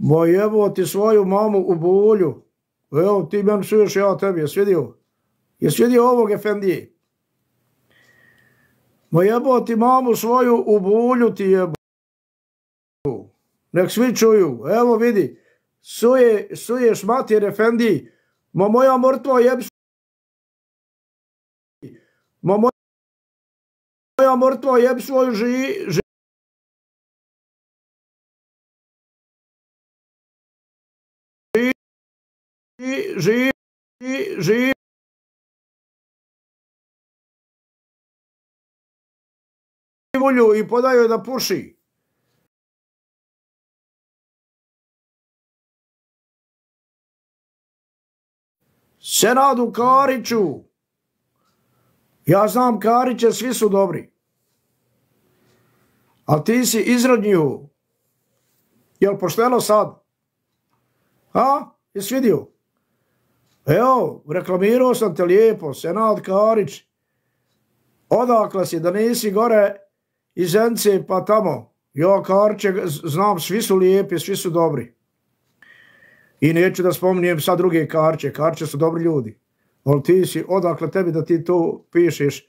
Ma jebo ti svoju mamu u Bulju. Evo, ti meni psuješ, ja tebi, jesi vidio? Jesi vidio ovog efendije? Ma jebo ti mamu svoju u Bulju ti jebo. Nek svi čuju. Evo vidi. Suješ mater efendiji. Ma moja mrtva jeb... Ma moja mrtva jeb svoju živ volju i podaju da puši. Senadu Kariću. Ja znam Kariće, svi su dobri. Ali ti si izrodnju. Jel pošteno sad? A? Jesi vidio? Evo, reklamirao sam te lijepo, Senad Karić. Odakle si, da nisi gore iz Zence pa tamo. Ja Kariće znam, svi su lijepi, svi su dobri. I neću da spominjem sad druge Kariće, Kariće su dobri ljudi. Ali ti si, odakle tebi da ti to pišeš,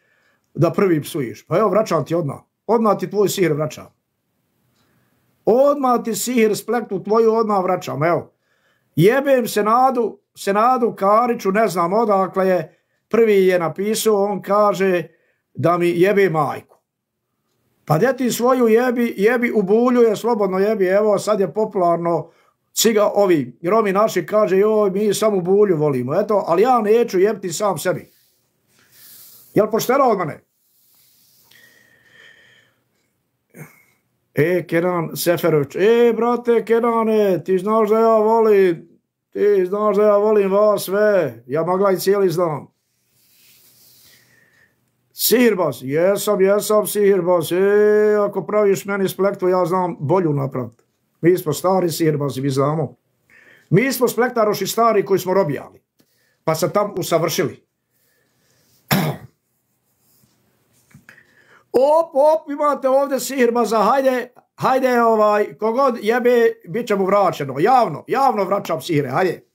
da prvi psuješ. Pa evo, vraćam ti odmah. Odmah ti tvoj sihir vraćam. Odmah ti sihir spleknu tvoju, odmah vraćam, evo. Jebem Senadu Kariću, ne znam odakle je, prvi je napisao, on kaže da mi jebe majku. Pa gdje ti svoju jebi u Bulju je slobodno jebi, evo sad je popularno, ovi Romi naši kaže, joj mi samo u Bulju volimo, eto, ali ja neću jebiti sam sebi. Jel pošteno od mene? Kenan Seferović, brate Kenane, ti znaš da ja volim vas sve, ja magla i cijeli znam. Sihirbaz, jesam sihirbaz, ako praviš meni splektu, ja znam bolju napraviti. Mi smo stari sihirbazi, mi znamo. Mi smo splektaroši stari koji smo robijali, pa se tam usavršili. Op, imate ovdje sihirbaza, hajde, kogod jebe, bit će mu vraćeno. Javno vraćam sihire, hajde.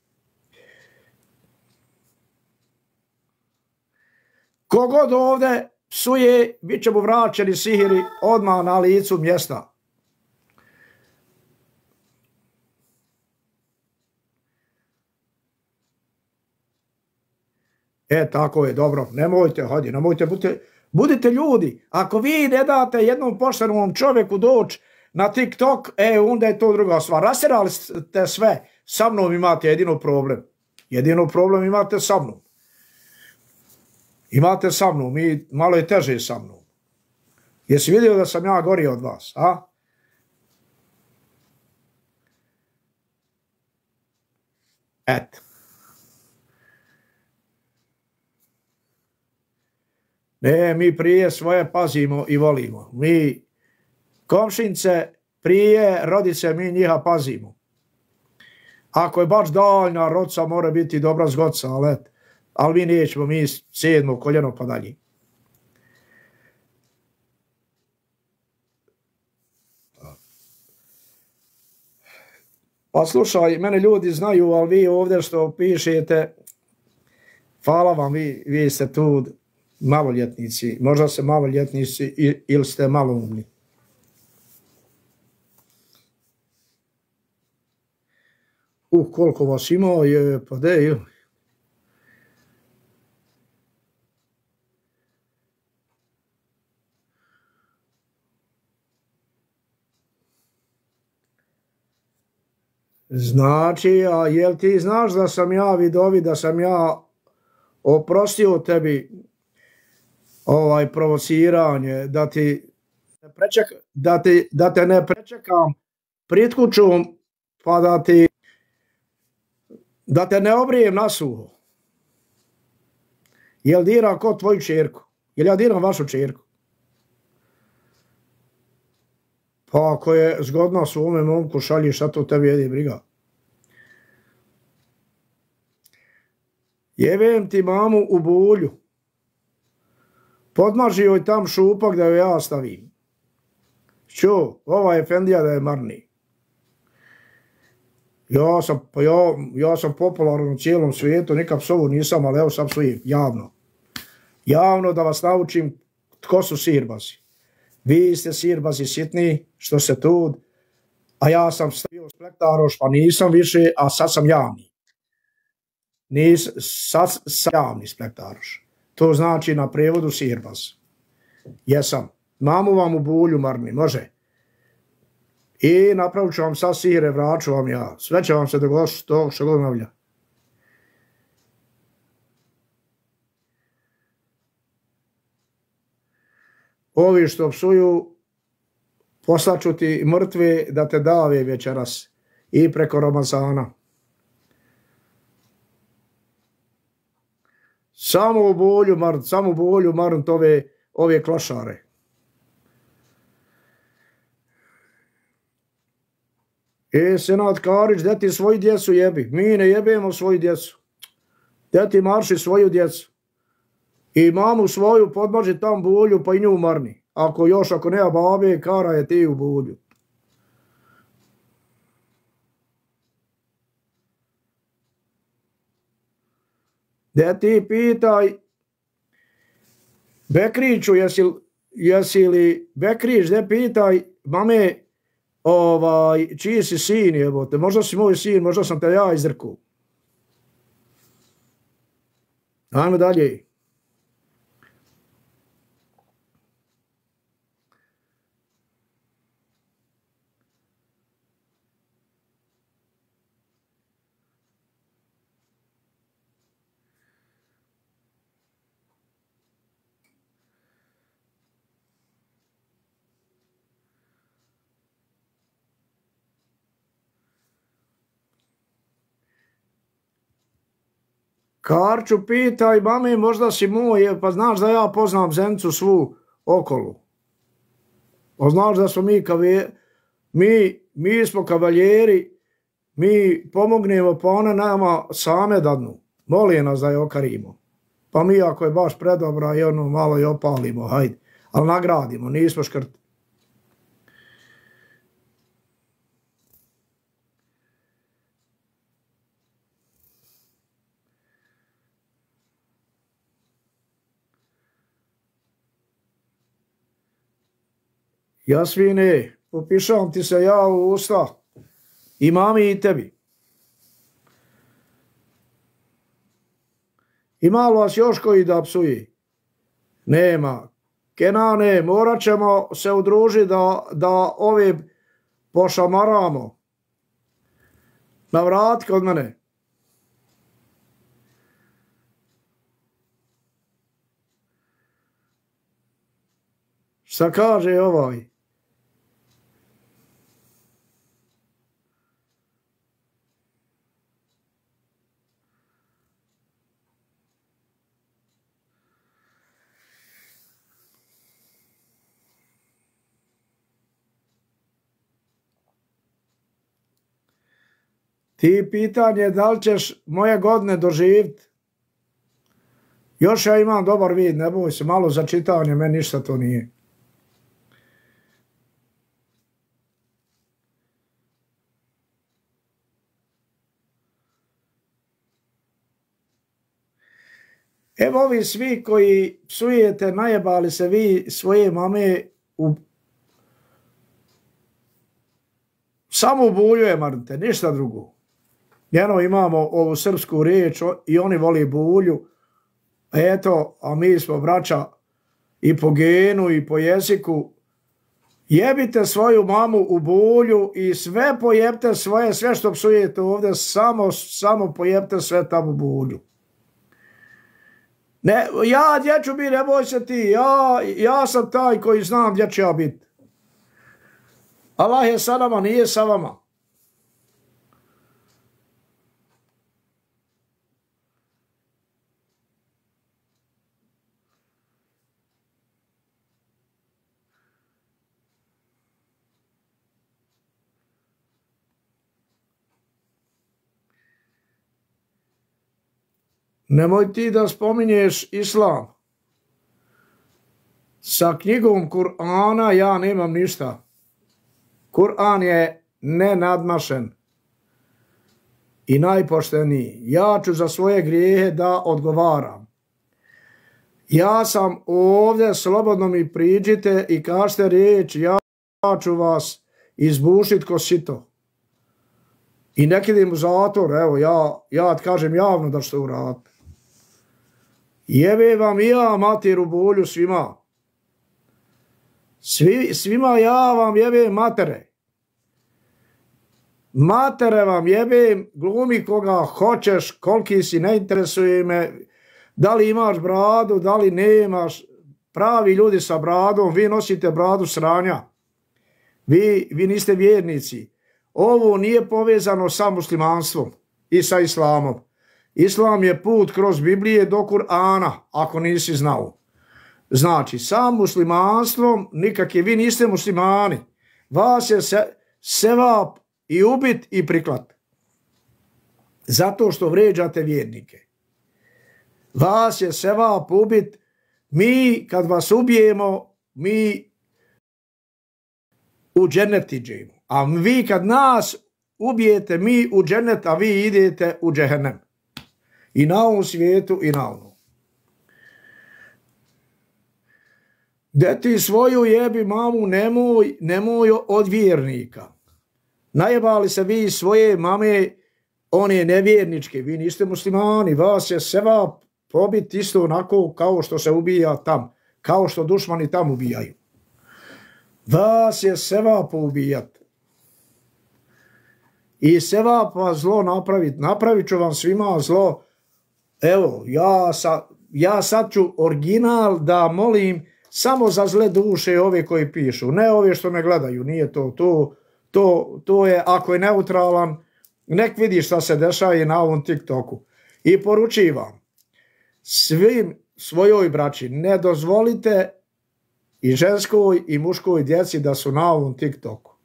Kogod ovdje psuje, bit će mu vraćeni sihiri odmah na licu mjesta. Tako je, dobro, nemojte, budite ljudi. Ako vi ne date jednom poštenom čovjeku doći na TikTok, onda je to druga stvar. Rasirali ste sve, sa mnom imate jedino problem. Jedino problem imate sa mnom. Imate sa mnom, malo je teže sa mnom. Jesi vidio da sam ja gori od vas, a? Eto. Ne, mi prije svoje pazimo i volimo. Mi komšince prije rodice, mi njiha pazimo. Ako je baš daljna rodca, mora biti dobra zgodca, ali mi nećemo, mi 7. koljeno pa dalje. Pa slušaj, mene ljudi znaju, ali vi ovdje što pišete, hvala vam, vi ste tu maloljetnici, možda ste maloljetnici ili ste maloumni. Koliko vas ima, pa de, Znači, a jel ti znaš da sam ja vidovi, da sam ja oprostio tebi provociranje, da te ne prečekam pred kućom, pa da te ne obrijem na suho. Jel diram ko tvoju čerku? Jel ja diram vašu čerku? Pa ako je zgodno svome momku šalji, šta to tebi jedi briga? Jebem ti mamu u Bulju. Podmaži joj tam šupak da joj ja stavim. Čo, ova efendija da je marni. Ja sam popularan u cijelom svijetu, nikad psovu nisam, ali evo sam psujem, javno. Javno da vas naučim tko su sirbazi. Vi ste sirbazi sitni, što se tu, a ja sam stavio splektaroš, pa nisam više, a sad sam javni. Sad sam javni splektaroš. To znači na prevodu sirbaz. Jesam. Mamu vam u bulju, marni, može. I napravit ću vam sad sire, vraću vam ja. Sve će vam se dogoditi to što god navlja. Ovi što psuju, poslaću ti mrtve da te dave večeras i preko Ramazana. Samo u bolju marnt ove klošare. Senad Karić, gdje ti svoju djecu jebi? Mi ne jebemo svoju djecu. Gdje ti marši svoju djecu? I mamu svoju podmaži tam bulju, pa i nju marni. Ako nema babe, kara je ti u bulju. Gdje ti pitaj Bekriću, jesi li Bekrić, gdje pitaj mame, čiji si sin, jebote, možda si moj sin, možda sam te ja izdrkao. Ajmo dalje. Karču, pitaj mami, možda si moj, pa znaš da ja poznam Zenicu svu okolo. Pa znaš da smo mi smo kavaljeri, mi pomognemo, pa one nama same dadnu. Molim nas da je okarimo. Pa mi ako je baš predobra i ono malo i opalimo, hajde. Ali nagradimo, nismo škrti. Jasmine, popišam ti se ja u usta, i mami i tebi. Ima li vas još koji da psuje? Nema. Kenane, morat ćemo se udružiti da ove pošamaramo. Navrati kod mene. Šta kaže ovaj? Ti pitanje da li ćeš moje godine doživjeti. Još ja imam dobar vid, ne boj se, malo za čitanje, meni ništa to nije. Evo ovi svi koji psujete, najebali se vi svoje mame samo u bulju je marnite, ništa drugo. Njeno imamo ovu srpsku riječ i oni voli bulju. Eto, a mi smo braća i po genu i po jeziku. Jebite svoju mamu u bulju i sve pojebte svoje, sve što psujete ovdje, samo pojebte sve tamo u bulju. Ne, ja gdje ću biti, ne boj se ti, ja sam taj koji znam gdje ću ja biti. Allah je sa nama, nije sa vama. Nemoj ti da spominješ islam. Sa knjigom Kur'ana ja nemam ništa. Kur'an je nenadmašen. i najpošteniji. Ja ću za svoje grijehe da odgovaram. Ja sam ovdje, slobodno mi priđite i kažete riječ, ja ću vas izbušit ko sito. I nek idem u zatvor, evo, ja kažem javno da ću to uraditi. Jebe vam i ja mater u bolju svima. Svima ja vam jebem matere. Matere vam jebem, glumi koga hoćeš, koliki si, ne interesuje me, da li imaš bradu, da li nemaš. Pravi ljudi sa bradom, vi nosite bradu sranja. Vi niste vjernici. Ovo nije povezano sa muslimanstvom i sa islamom. Islam je put kroz Biblije do Kur'ana, ako nisi znao. Znači, sa muslimanstvom nikakve, vi niste muslimani. Vas je sevap i ubit i priklat. Zato što vređate vjernike. Vas je sevap ubit. Mi, kad vas ubijemo, mi u džennet iđemo. A vi kad nas ubijete, mi u džennet, a vi idete u džehennem. I na ovom svijetu i na ovom. Deti svoju jebi mamu, nemoj od vjernika. Najebali se vi svoje mame, one nevjerničke, vi niste muslimani, vas je sevap pobit isto onako kao što se ubija tam, kao što dušmani tam ubijaju. Vas je sevap ubijat. I sevap vas zlo napravit, napravit ću vam svima zlo. Evo, ja sad ću original da molim samo za zle duše ove koji pišu, ne ove što me gledaju, nije to je, ako je neutralan, nek vidi šta se dešava na ovom TikToku. I poručivam svim svojoj braći, ne dozvolite i ženskoj i muškoj djeci da su na ovom TikToku.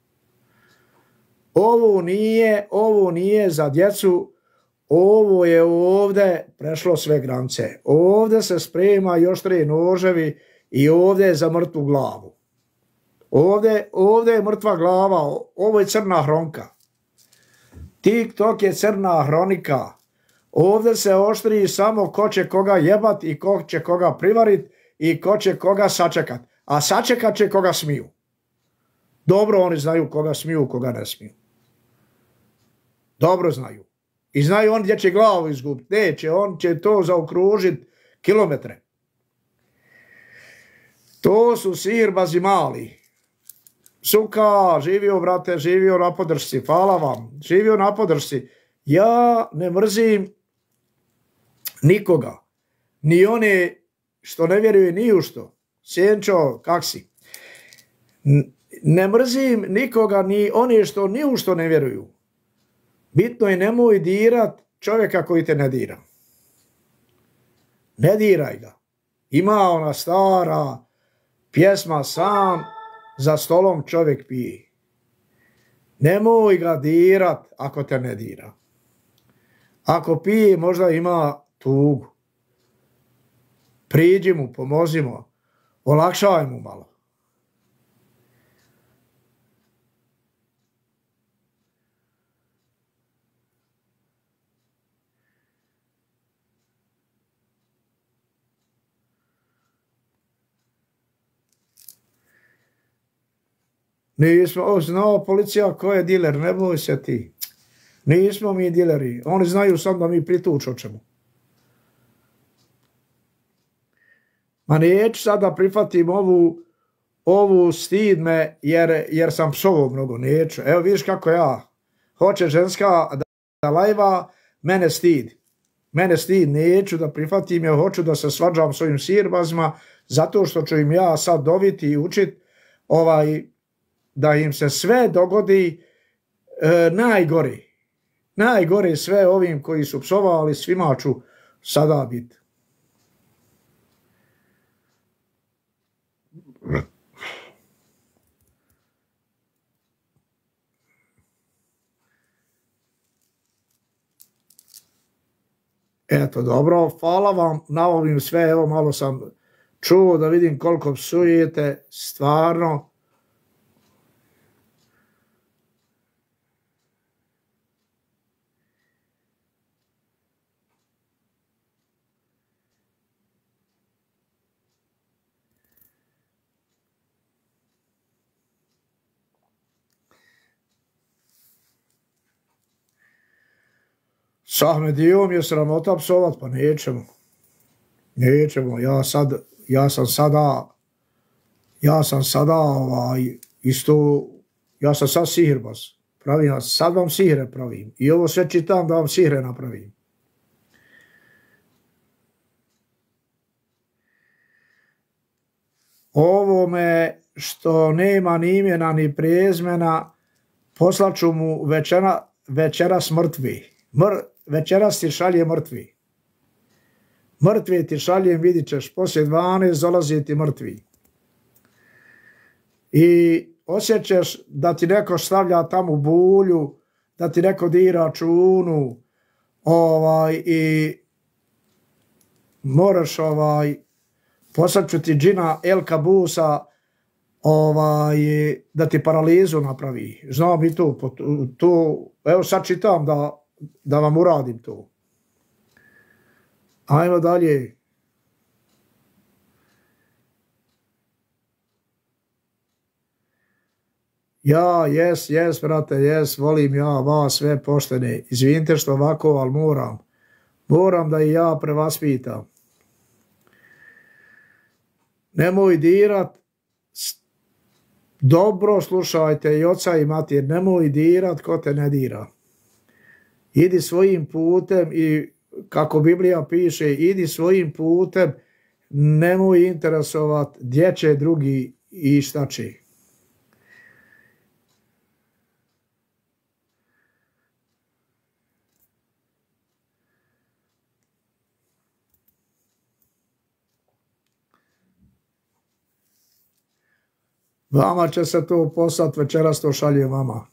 Ovo nije za djecu, ovo je ovdje prešlo sve granice. Ovdje se sprema još 3 noževi i ovdje je za mrtvu glavu. Ovdje je mrtva glava, ovo je crna hronka. TikTok je crna hronika. Ovdje se oštri samo ko će koga jebat i ko će koga privarit i ko će koga sačekat. A sačekat će koga smiju. Dobro oni znaju koga smiju, koga ne smiju. Dobro znaju. I znaju on gdje će glavu izgubiti. Neće, on će to zaokružiti kilometre. To su sirbazi mali. Suka, živio brate, živio na podršci. Hvala vam. Živio na podršci. Ja ne mrzim nikoga. Ni one što ne vjeruju ni u što. Sjenčo, kak si? Ne mrzim nikoga, ni one što ni u što ne vjeruju. Bitno je nemoj dirat čovjeka koji te ne dira. Ne diraj ga. Ima ona stara pjesma sam za stolom čovjek pije. Nemoj ga dirat ako te ne dira. Ako pije možda ima tugu. Priđi mu, pomozi mu, olakšaj mu malo. Nismo znao policija ko je diler, ne boj se ti. Nismo mi dileri, oni znaju sam da mi prituč hoćemo. Ma neću sad da prihvatim ovu stid me jer sam psovao mnogo, neću. Evo vidiš kako ja, hoće ženska da lajva, mene stid. Mene stid, neću da prihvatim, jer hoću da se svađam s ovim sirbazima, zato što ću im ja sad doviti i učit da im se sve dogodi najgori. Najgore sve ovim koji su psovali, svima ću sada biti. Eto, dobro, hvala vam na ovim sve, evo malo sam čuo da vidim koliko psujete, stvarno. S Ahmedijom je sramota psovat, pa nećemo. Nećemo, ja sam sada isto, ja sam sad sihirbaz. Pravim, sad vam sihre pravim. I ovo sve čitam da vam sihre napravim. Ovome što nema ni imena ni prezmena, poslaću mu večeras mrtvi. Večeras ti šalje mrtvi. Mrtvi ti šaljem, vidit ćeš, poslije 12 dolazi ti mrtvi. I osjećaš da ti neko stavlja tamo bulju, da ti neko dira čunu, i moraš, poslaću ti džina El Kabusa, da ti paralizu napravi. Znam i tu, evo sad čitam da vam uradim to. Ajmo dalje. Ja, jes, brate, volim ja vas sve poštene. Izvinite što ovako, ali moram da i ja prevaspitam. Nemoj dirat, dobro slušajte i oca i mater, nemoj dirat ko te ne dira. Idi svojim putem i kako Biblija piše, idi svojim putem, nemoj interesovat gdje će drugi i šta će. Vama će se to poslati, večeras to šalje vama.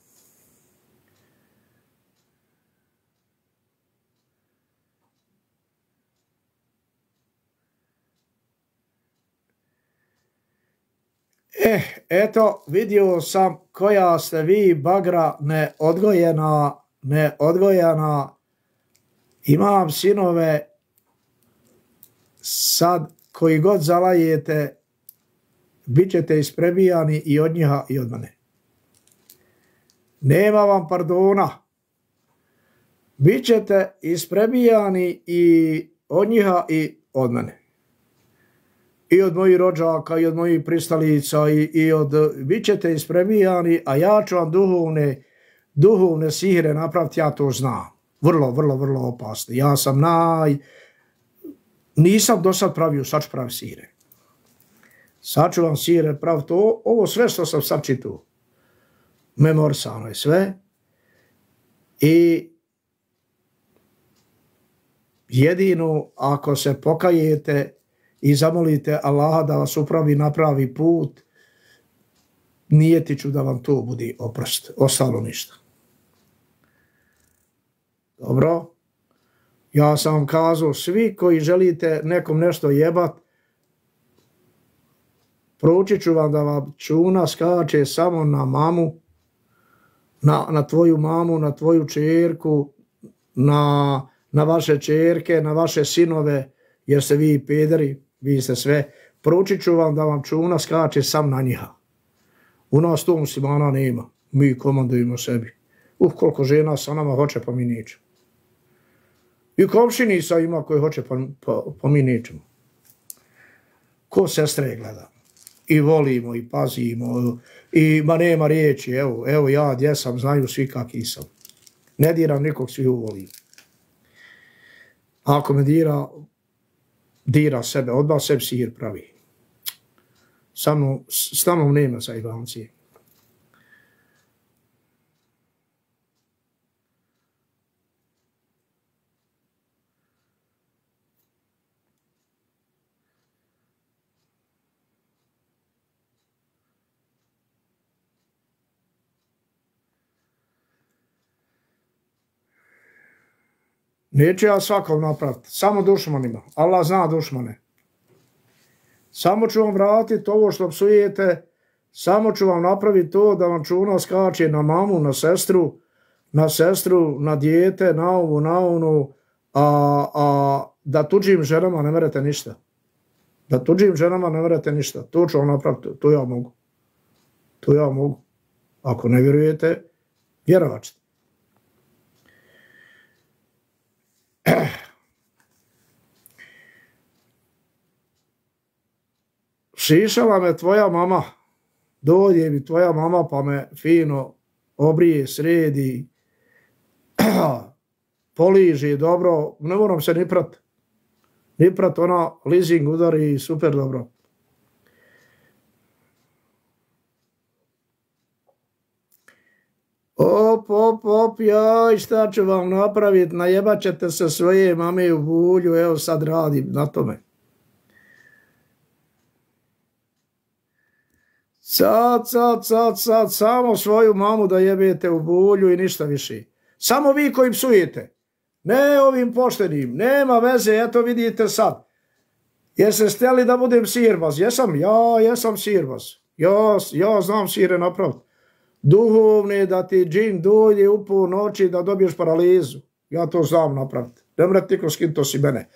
Eto, vidio sam koja ste vi bagra neodgojena. Imam sinove, sad koji god zalajete, bit ćete isprebijani i od njiha i od mene. Nema vam pardona. Bit ćete isprebijani i od njiha i od mene. I od mojih rođaka, i od mojih pristalica, bit ćete isprebijani, a ja ću vam duhovne sihre napraviti, ja to znam. Vrlo opasne. Ja sam nisam do sad pravio, sad ću pravi sihre. Sad ću vam sihre praviti, ovo sve što sam sad čitao. Memorisano je sve. I jedino ako se pokajete i zamolite Allaha da vas upravi na pravi put, nijetiću da vam to bude oprost, ostalo ništa. Dobro? Ja sam vam kazao, svi koji želite nekom nešto jebat, proučit ću vam da vam čuna skače samo na mamu, na tvoju mamu, na tvoju čerku, na vaše čerke, na vaše sinove, jer ste vi pederi, vi ste sve. Proučit ću vam da vam čuna skače sam na njiha. U nas to muslimana nema. Mi komandujemo sebi. Koliko žena sa nama hoće, pa mi nećemo. I komšinica ima koji hoće, pa mi nećemo. Ko sestre gleda. I volimo, i pazimo, i ma nema riječi, evo ja gdje sam, znaju svi kakvi sam. Ne diram nikog, svi volim. Ako me dira sebe, odmah sebi sihir pravi. S mnom nema zajbancije. Neću ja svakom napraviti, samo dušmanima. Allah zna dušmane. Samo ću vam vratiti ovo što psujete, samo ću vam napraviti to da vam čuna skače na mamu, na sestru, na dijete, na ovu, na onu, a da tuđim ženama ne merete ništa. Da tuđim ženama ne merete ništa. To ću vam napraviti, to ja mogu. To ja mogu. Ako ne vjerujete, vjerovat ćete. Šišala me tvoja mama, dođe mi tvoja mama pa me fino obrije, sredi, poliži dobro, ne moram se ni prat, ona leasing udari super dobro. Op, jaj, šta ću vam napraviti, najebat ćete se svoje mame u bulju, evo sad radim na tome. Sad, samo svoju mamu da jebete u bulju i ništa više. Samo vi koji psujete, ne ovim poštenim, nema veze, eto vidite sad. Jeste steli da budem sirbaz? Jesam, ja jesam sirbaz. Ja znam sire napraviti. Duhovne da ti džin dođe u pol noći da dobiješ paralizu. Ja to znam napraviti. Ne mrati niko skin, to si mene.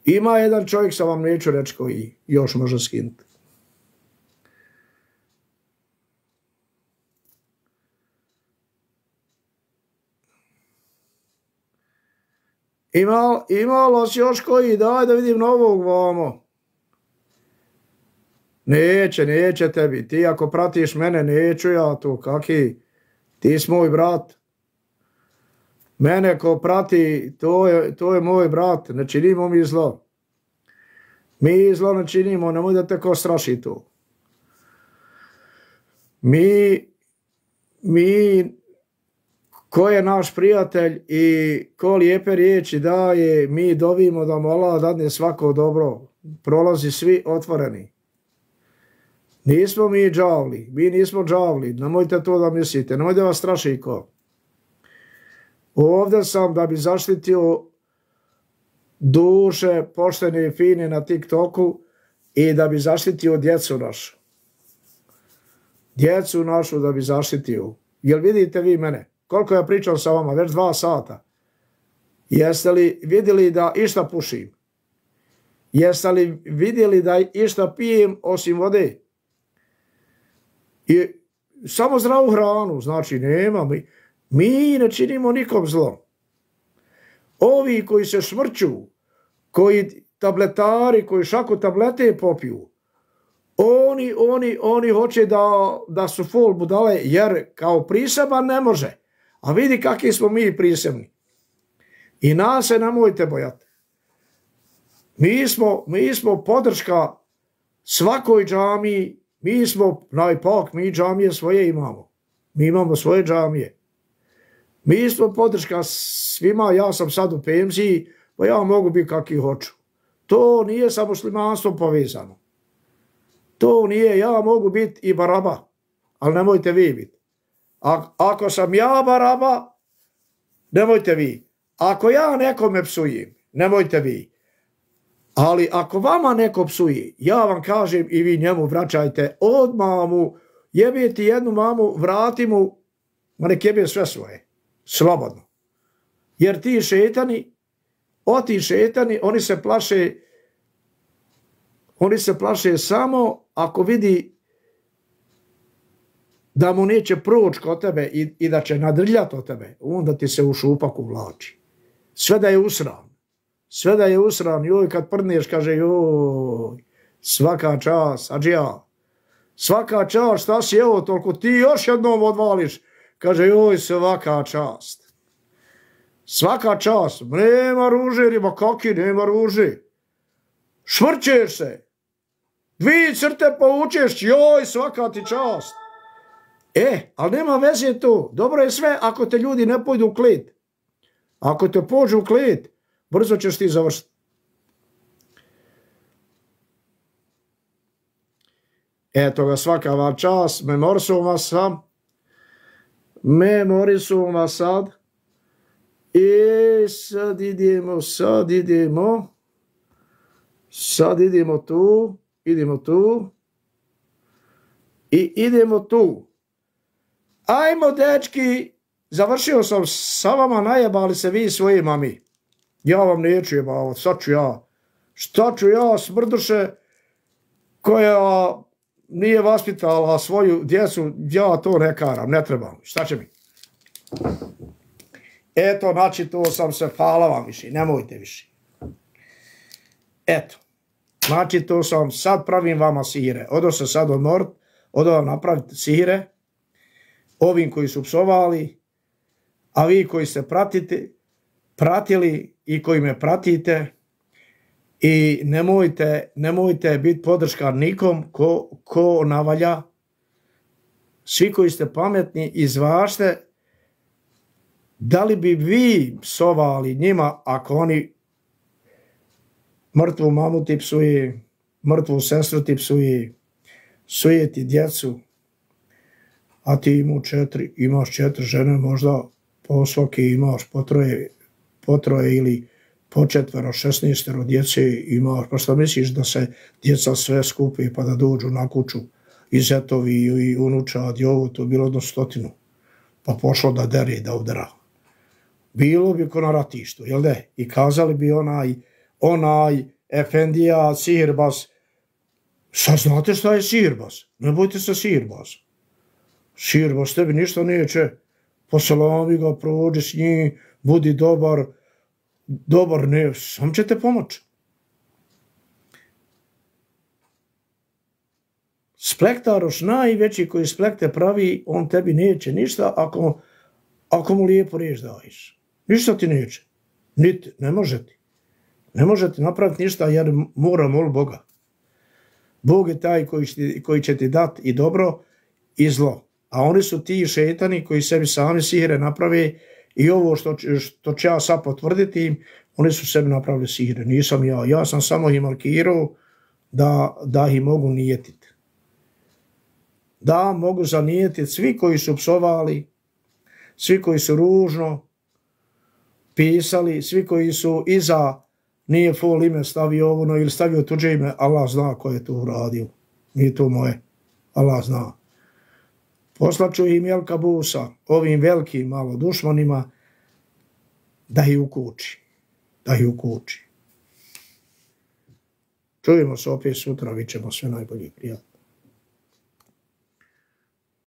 Ima jedan čovjek, sam vam neću reći koji još može skinuti. Imalo si još koji, daj da vidim novog vamo. Neće tebi, ti ako pratiš mene, neću ja to, kaki, ti si moj brat. Mene ko prati, to je moj brat, ne činimo mi zlo. Mi zlo ne činimo, nemoj da te ko straši to. Mi, ko je naš prijatelj i ko lijepe riječi daje, mi dovimo da mu Allah dadne svako dobro, prolazi svi otvoreni. Nismo mi džavli, mi nismo džavli, nemojte to da mislite, nemojte vas straši ko. Ovdje sam da bi zaštitio duše poštene i fine na TikToku i da bi zaštitio djecu našu. Djecu našu da bi zaštitio. Jel vidite vi mene? Koliko ja pričam sa vama? Već 2 sata. Jeste li vidjeli da išta pušim? Jeste li vidjeli da išta pijem osim vode? I samo zdravu hranu, znači nema mi ne činimo nikom zlo. Ovi koji se šmrću, koji tabletari, koji šaku tablete popiju, oni hoće da su full budale, jer kao priseban ne može. A vidi kakvi smo mi prisebni. I nas se nemojte bojati. Mi smo podrška svakoj džamiji, mi smo najpak, mi džamije svoje imamo. Mi imamo svoje džamije. Mi smo podrška svima, ja sam sad u penziji, pa ja mogu biti kakvi hoću. To nije sa muslimanstvom povezano. To nije, ja mogu biti i baraba, ali nemojte vi biti. Ako sam ja baraba, nemojte vi. Ako ja nekome psujem, nemojte vi. Ali ako vama neko psuje, ja vam kažem i vi njemu vraćajte, odmah mu jebiti jednu mamu, vrati mu, ma nek jebe sve svoje, slobodno. Jer ti šetani, oni se plaše samo ako vidi da mu neće proći kod tebe i da će nadrljati od tebe, onda ti se u šupak uvlači. Sve da je usran, joj kad prdneš kaže joj, svaka čast, adžija, svaka čast, šta si evo toliko, ti još jednom odvališ, kaže joj svaka čast. Svaka čast, nema ruže, riba kaki, nema ruže. Švrćeš se, 2 crte povučeš, joj svaka ti čast. Ali nema veze to, dobro je sve ako te ljudi ne pojdu u klet. Ako te pođu u klet, brzo ćeš ti završiti. Eto ga, svaka vam čast, memorisum vas sad. I sad idemo tu, i idemo tu. Ajmo, dečki, završio sam sa vama, najebali se vi svoji mami. Ja vam neću jebavati, šta ću ja smrduše koja nije vaspitala svoju djecu, ja to ne karam, ne trebam, šta će mi? Eto, načitao sam se, hvala vam više, nemojte više. Eto, načitao sam, sad pravim vama sihire. Odo se sad odmorit, odo vam napraviti sihire, ovim koji su psovali, a vi koji ste pratili i koji me pratite, i nemojte biti podrška nikom ko navalja. Svi koji ste pametni, izvažte da li bi vi psovali njima ako oni mrtvu mamu ti psuje, mrtvu sestru ti psuje ti djecu, a ti imaš 4 žene, možda po svaki imaš po troje ili po 4, 16 djece imaš, pa šta misliš da se djeca sve skupi pa da dođu na kuću i zetovi i unučad i ovo, to bilo do 100, pa pošlo da dere i da udara. Bilo bi ko na ratištu, jel de? I kazali bi onaj efendija sihirbaz, sad znate šta je sihirbaz? Ne bojte se sihirbaz. Sihirbaz tebi ništa neće, posalami ga, prođi s njim, budi dobar ne, sam će te pomoći. Splektaroš najveći koji splekte pravi, on tebi neće ništa ako mu lijepo riječ daješ. Ništa ti neće. Niti, ne može ti. Ne može ti napraviti ništa jer mora moliti Boga. Bog je taj koji će ti dati i dobro i zlo. A oni su ti šetani koji sebi sami sihire naprave i ovo što ću ja sad potvrditi im, oni su sebi napravili sihire. Nisam ja. Ja sam samo ih markirao da ih mogu nijetiti. Da mogu zanijetiti svi koji su psovali, svi koji su ružno pisali, svi koji su iza nije fol ime stavio ovo ili stavio tuđe ime, Allah zna ko je to uradio. Nije to moje. Allah zna. Poslaću im Jelka Busa, ovim velikim malo dušmanima, da ih ukući. Da ih ukući. Čujemo se opet sutra, vi ćemo sve najbolje prijatelji.